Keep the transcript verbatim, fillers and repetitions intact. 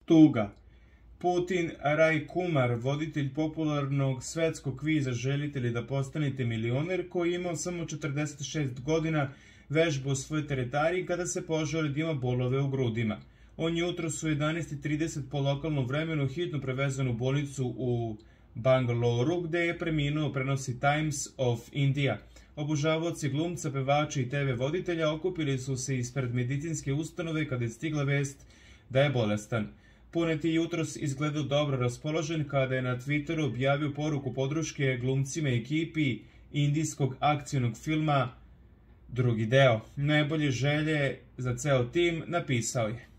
Tuga. Putin Rajkumar, voditelj popularnog svetskog kviza Želite li da postanete milioner, koji je imao samo četrdeset šest godina, vežba u svojoj teretani kada se požali da ima bolove u grudima. On je jutros u jedanaest i trideset po lokalnom vremenu hitno prevezan u bolnicu u Bangaloru, gde je preminuo, prenosi Times of India. Obožavaoci glumca, pevača i te ve voditelja okupili su se ispred medicinske ustanove kada je stigla vest da je bolestan. Punet je jutros izgledao dobro raspoložen kada je na Twitteru objavio poruku podrške glumcima i ekipi indijskog akcionog filma drugi deo. Najbolje želje za ceo tim napisao je.